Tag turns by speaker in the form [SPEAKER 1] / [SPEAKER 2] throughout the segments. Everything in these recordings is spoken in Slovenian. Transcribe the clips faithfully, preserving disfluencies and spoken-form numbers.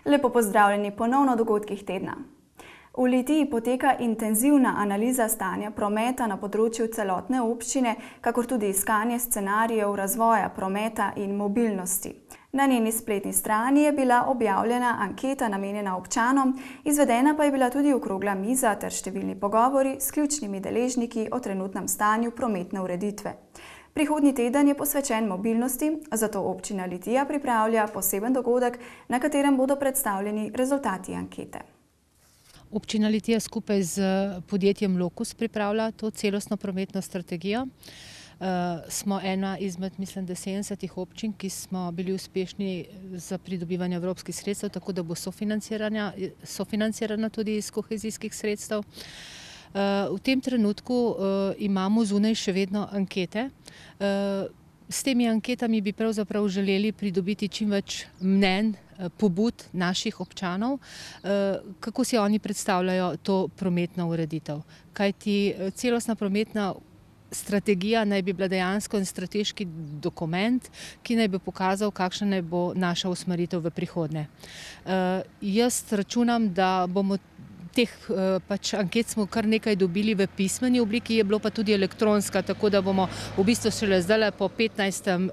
[SPEAKER 1] Lepo pozdravljeni ponovno v dogodkih tedna. V Litiji poteka intenzivna analiza stanja prometa na področju celotne občine, kakor tudi iskanje scenarijev razvoja prometa in mobilnosti. Na njeni spletni strani je bila objavljena anketa namenjena občanom, izvedena pa je bila tudi okrogla miza ter številni pogovori s ključnimi deležniki o trenutnem stanju prometne ureditve. Prihodnji teden je posvečen mobilnosti, zato občina Litija pripravlja poseben dogodek, na katerem bodo predstavljeni rezultati ankete.
[SPEAKER 2] Občina Litija skupaj z podjetjem Lokus pripravlja to celostno prometno strategijo. Smo ena izmed, mislim, da sedemdesetih občin, ki smo bili uspešni za pridobivanje evropskih sredstev, tako da bo sofinancirana, sofinancirana tudi iz kohezijskih sredstev. V tem trenutku imamo zunaj še vedno ankete. S temi anketami bi pravzaprav želeli pridobiti čim več mnenj, pobud naših občanov, kako si oni predstavljajo to prometno ureditev. Kajti celostna prometna strategija naj bi bila dejansko en strateški dokument, ki naj bi pokazal, kakšna naj bo naša usmeritev v prihodnje. Jaz računam, da bomo teh pač anket smo kar nekaj dobili v pismeni obliki, je bilo pa tudi elektronska, tako da bomo v bistvu šele zdaj po petnajstem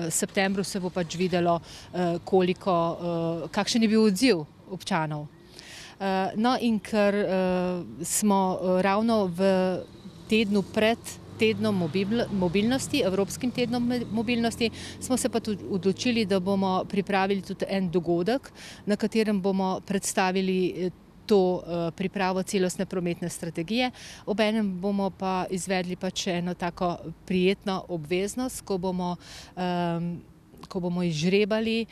[SPEAKER 2] septembru se bo pač videlo, koliko, kakšen je bil odziv občanov. No, in ker smo ravno v tednu pred tednom mobilnosti, Evropskim tednom mobilnosti, smo se pa tudi odločili, da bomo pripravili tudi en dogodek, na katerem bomo predstavili to pripravo celostne prometne strategije. Obenem bomo pa izvedli pač eno tako prijetno obveznost, ko bomo, ko bomo izžrebali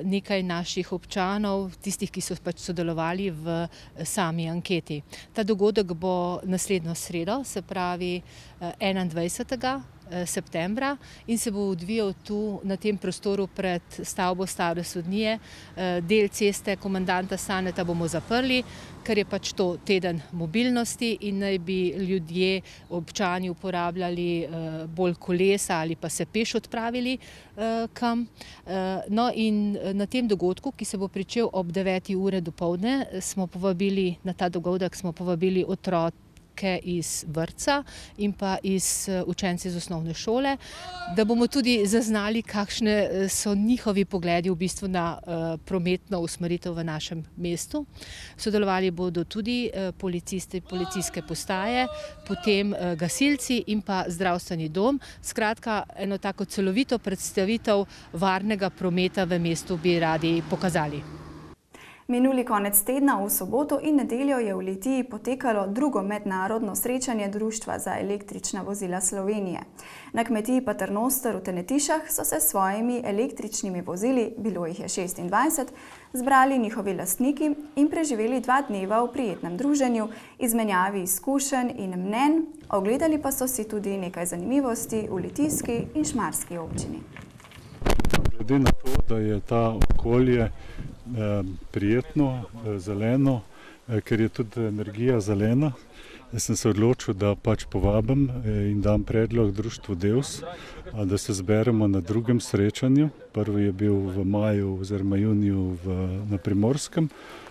[SPEAKER 2] nekaj naših občanov, tistih, ki so pač sodelovali v sami anketi. Ta dogodek bo naslednjo sredo, se pravi enaindvajsetega septembra, in se bo odvijal tu na tem prostoru pred stavbo Stare sodnije. Del ceste komandanta Saneta bomo zaprli, ker je pač to teden mobilnosti in naj bi ljudje, občani uporabljali bolj kolesa ali pa se peš odpravili kam. No, in na tem dogodku, ki se bo pričel ob deveti uri dopoldne, smo povabili, na ta dogodek smo povabili otroke iz vrtca in pa iz učenci iz osnovne šole, da bomo tudi zaznali, kakšne so njihovi pogledi v bistvu na prometno usmeritev v našem mestu. Sodelovali bodo tudi policisti, policijske postaje, potem gasilci in pa zdravstveni dom. Skratka, eno tako celovito predstavitev varnega prometa v mestu bi radi pokazali.
[SPEAKER 1] Minuli konec tedna v soboto in nedeljo je v Litiji potekalo drugo mednarodno srečanje Društva za električna vozila Slovenije. Na kmetiji Paternoster v Tenetišah so se s svojimi električnimi vozili, bilo jih je šestindvajset, zbrali njihovi lastniki in preživeli dva dneva v prijetnem druženju, izmenjavi izkušenj in mnenj, ogledali pa so si tudi nekaj zanimivosti v litijski in šmarski občini.
[SPEAKER 3] Glede na to, da je ta okolje prijetno, zeleno, ker je tudi energija zelena, sem se odločil, da pač povabim in dam predlog društvu Devs, da se zberemo na drugem srečanju. Prvi je bil v maju oziroma juniju na Primorskem,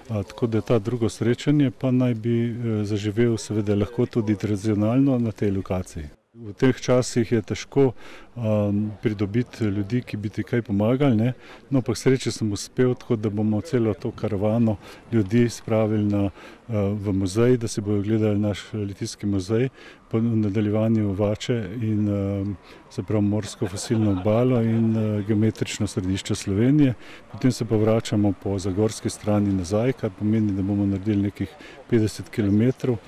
[SPEAKER 3] tako da ta drugo srečanje pa naj bi zaživel seveda lahko tudi tradicionalno na tej lokaciji. V teh časih je težko um, pridobiti ljudi, ki bi ti kaj pomagali, ne? No, pa k sreči sem uspel, tako da bomo celo to karavano ljudi spravili na, uh, v muzej, da si bodo gledali naš litijski muzej, po nadaljevanju Vače in uh, se pravi morsko fosilno obalo in uh, geometrično središče Slovenije. Potem se pa vračamo po zagorski strani nazaj, kar pomeni, da bomo naredili nekih petdeset kilometrov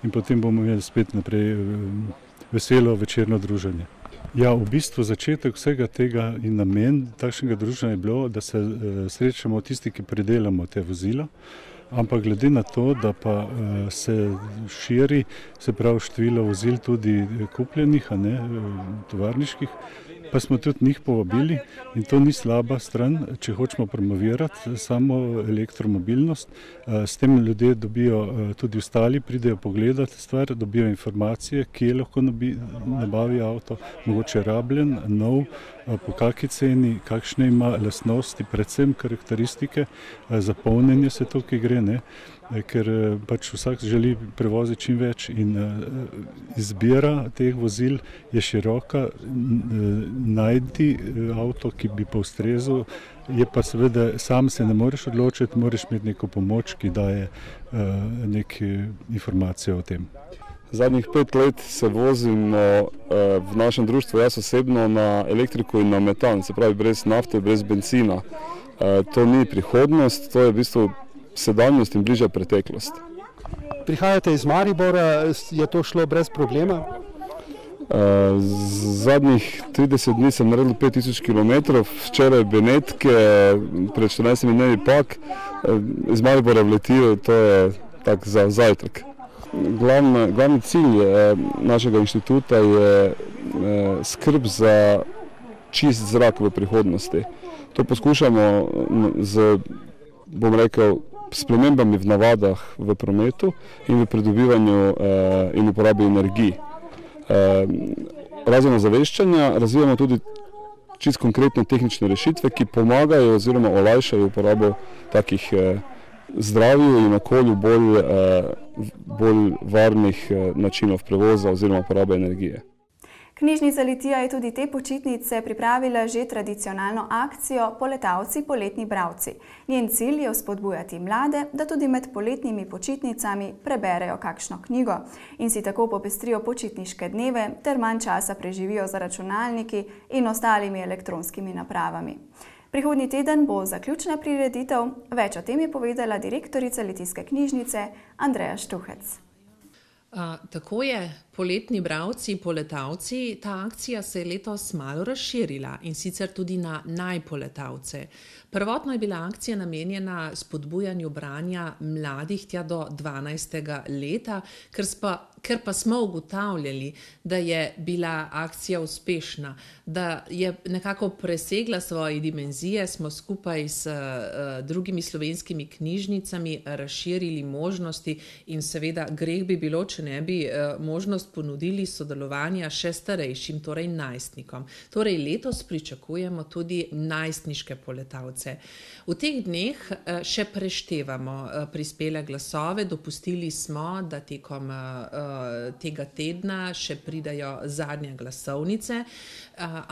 [SPEAKER 3] in potem bomo imeli spet naprej uh, veselo večerno druženje. Ja, v bistvu začetek vsega tega in namen takšnega druženja je bilo, da se srečamo tisti, ki predelamo te vozila, ampak glede na to, da pa se širi, se pravi število vozil tudi kupljenih, a ne, tovarniških, pa smo tudi njih povabili in to ni slaba stran, če hočemo promovirati samo elektromobilnost. S tem ljudje dobijo, tudi ostali pridejo pogledati stvar, dobijo informacije, kje lahko nabavi avto, mogoče rabljen, nov, po kakšni ceni, kakšne ima lastnosti, predvsem karakteristike, za polnjenje se tukaj gre, ne? Ker pač vsak želi prevoziti čim več in izbira teh vozil je široka, najti avto, ki bi pa ustrezal, je pa seveda sam se ne moreš odločiti, moraš imeti neko pomoč, ki daje neke informacije o tem.
[SPEAKER 4] Zadnjih pet let se vozimo v našem društvu, jaz osebno, na elektriko in na metan, se pravi brez nafte, brez benzina. To ni prihodnost, to je v bistvu sedanjost in bližja preteklost.
[SPEAKER 5] Prihajate iz Maribora, je to šlo brez problema?
[SPEAKER 4] Zadnjih trideset dni sem naredil pet tisoč kilometrov, včeraj Benetke, pred štirinajstimi dnevi Pag, iz Maribora v Letijo, to je tak za zajtrk. Glavni, glavni cilj našega inštituta je skrb za čist zrak v prihodnosti. To poskušamo z, bom rekel, spremembami v navadah v prometu in v pridobivanju in uporabi energij. Razen ozaveščanja razvijamo tudi čist konkretne tehnične rešitve, ki pomagajo oziroma olajšajo uporabo takih zdravju in okolju bolj, bolj varnih načinov prevoza oziroma uporabe energije.
[SPEAKER 1] Knjižnica Litija je tudi te počitnice pripravila že tradicionalno akcijo Poletavci, poletni bralci. Njen cilj je vzpodbujati mlade, da tudi med poletnimi počitnicami preberejo kakšno knjigo in si tako popestrijo počitniške dneve ter manj časa preživijo za računalniki in ostalimi elektronskimi napravami. Prihodnji teden bo zaključna prireditev, več o tem je povedala direktorica Litijske knjižnice Andreja Štuhec.
[SPEAKER 6] Uh, tako je, poletni bralci, poletavci, ta akcija se je letos malo razširila in sicer tudi na najpoletavce. Prvotno je bila akcija namenjena spodbujanju branja mladih tja do dvanajstega leta, ker, spa, ker pa smo ugotavljali, da je bila akcija uspešna, da je nekako presegla svoje dimenzije, smo skupaj s uh, drugimi slovenskimi knjižnicami razširili možnosti in seveda greh bi bilo, če ne bi uh, možnost ponudili sodelovanja še starejšim, torej najstnikom. Torej letos pričakujemo tudi najstniške poletavce. V teh dneh še preštevamo prispele glasove, dopustili smo, da tekom tega tedna še pridajo zadnje glasovnice,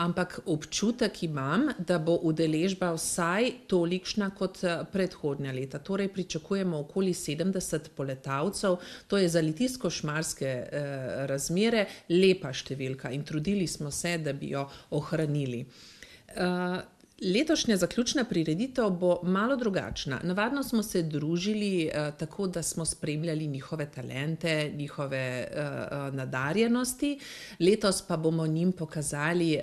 [SPEAKER 6] ampak občutek imam, da bo udeležba vsaj tolikšna kot predhodnja leta. Torej pričakujemo okoli sedemdeset poletavcev, to je za litijsko-šmarske razmere lepa številka in trudili smo se, da bi jo ohranili. Letošnja zaključna prireditev bo malo drugačna. Navadno smo se družili eh, tako, da smo spremljali njihove talente, njihove eh, nadarjenosti. Letos pa bomo njim pokazali eh,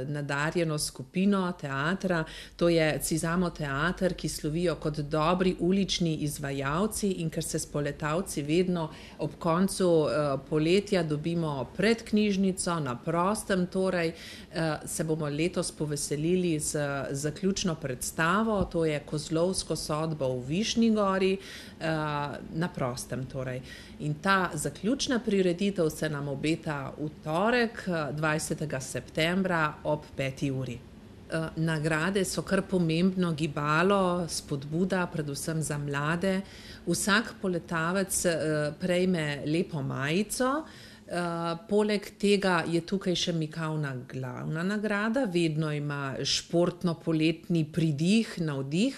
[SPEAKER 6] nadarjeno skupino teatra. To je Cizamo teater, ki slovijo kot dobri ulični izvajalci in ker se s poletavci vedno ob koncu eh, poletja dobimo pred knjižnico, na prostem, torej eh, se bomo letos poveselili z zaključno predstavo, to je Kozlovsko sodbo v Višnji gori, na prostem torej. In ta zaključna prireditev se nam obeta v torek, dvajsetega septembra ob peti uri. Nagrade so kar pomembno gibalo, spodbuda, predvsem za mlade. Vsak poletavec prejme lepo majico. Uh, poleg tega je tukaj še mikavna glavna nagrada, vedno ima športno-poletni pridih, navdih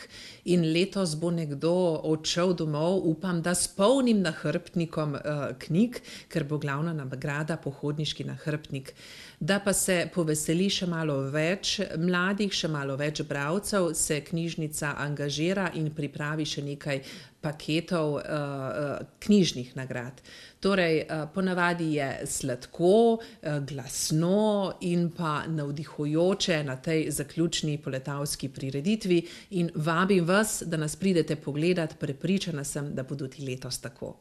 [SPEAKER 6] in letos bo nekdo odšel domov, upam, da s polnim nahrbtnikom uh, knjig, ker bo glavna nagrada pohodniški nahrbtnik. Da pa se poveseli še malo več mladih, še malo več bralcev, se knjižnica angažira in pripravi še nekaj paketov uh, knjižnih nagrad. Torej, uh, ponavadi je sladko, uh, glasno in pa navdihujoče na tej zaključni poletavski prireditvi in vabim vas, da nas pridete pogledat, prepričana sem, da bo tudi letos tako.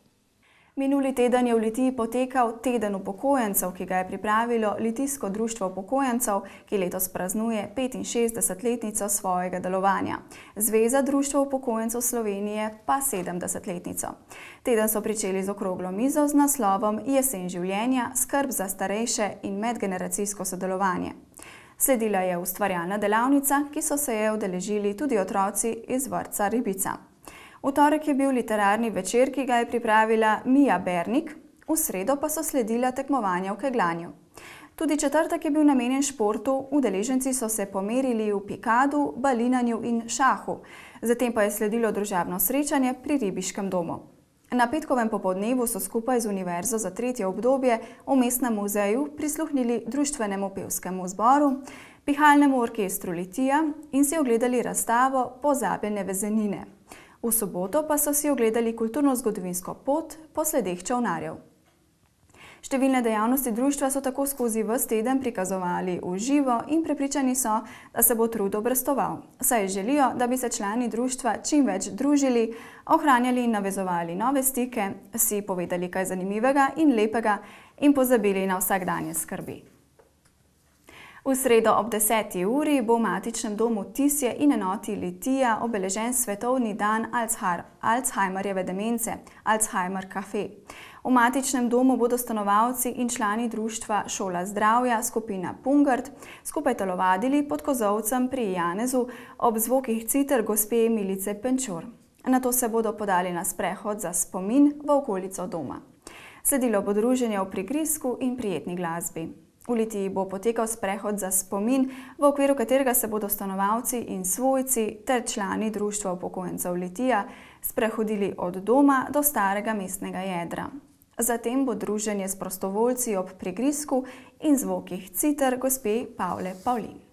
[SPEAKER 1] Minuli teden je v Litiji potekal teden upokojencev, ki ga je pripravilo Litijsko društvo upokojencev, ki letos praznuje petinšestdesetletnico svojega delovanja. Zveza društva upokojencev Slovenije pa sedemdesetletnico. Teden so pričeli z okroglo mizo z naslovom Jesen življenja, skrb za starejše in medgeneracijsko sodelovanje. Sledila je ustvarjalna delavnica, ki so se je udeležili tudi otroci iz vrtca Ribica. V torek je bil literarni večer, ki ga je pripravila Mija Bernik, v sredo pa so sledila tekmovanja v kegljanju. Tudi četrtek je bil namenjen športu, udeleženci so se pomerili v pikadu, balinanju in šahu, zatem pa je sledilo družabno srečanje pri Ribiškem domu. Na petkovem popoldnevu so skupaj z Univerzo za tretje obdobje v Mestnem muzeju prisluhnili društvenemu pevskemu zboru, pihalnemu orkestru Litija in si ogledali razstavo Pozabljene vezenine. V soboto pa so si ogledali kulturno-zgodovinsko pot po sledeh čolnarjev. Številne dejavnosti društva so tako skozi ves teden prikazovali v živo in prepričani so, da se bo trud obrestoval, saj želijo, da bi se člani društva čim več družili, ohranjali in navezovali nove stike, si povedali kaj zanimivega in lepega in pozabili na vsakdanje skrbi. V sredo ob deseti uri bo v matičnem domu Tisje in enoti Litija obeležen svetovni dan Alzheimerjeve demence, Alzheimer Café. V matičnem domu bodo stanovalci in člani društva Šola zdravja, skupina Pungart, skupaj telovadili pod kozolcem pri Janezu ob zvokih citer gospe Milice Penčur. Nato se bodo podali na sprehod za spomin v okolico doma. Sledilo bo druženje v prigrizku in prijetni glasbi. V Litiji bo potekal sprehod za spomin, v okviru katerega se bodo stanovalci in svojci ter člani društva upokojencev Litija sprehodili od doma do starega mestnega jedra. Zatem bo druženje s prostovoljci ob prigrizku in zvokih citer gospe Pavle Pavlin.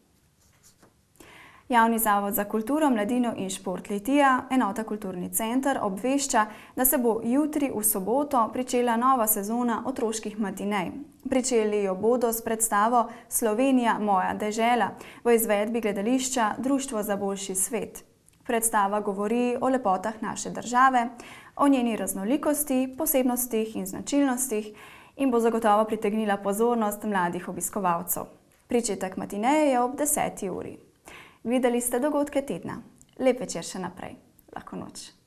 [SPEAKER 1] Javni zavod za kulturo, mladino in šport Litija, enota Kulturni center, obvešča, da se bo jutri v soboto pričela nova sezona otroških matinej. Pričeli jo bodo s predstavo Slovenija, moja dežela v izvedbi gledališča Društvo za boljši svet. Predstava govori o lepotah naše države, o njeni raznolikosti, posebnostih in značilnostih in bo zagotovo pritegnila pozornost mladih obiskovalcev. Pričetek matineje je ob deseti uri. Videli ste dogodke tedna. Lep večer še naprej. Lahko noč.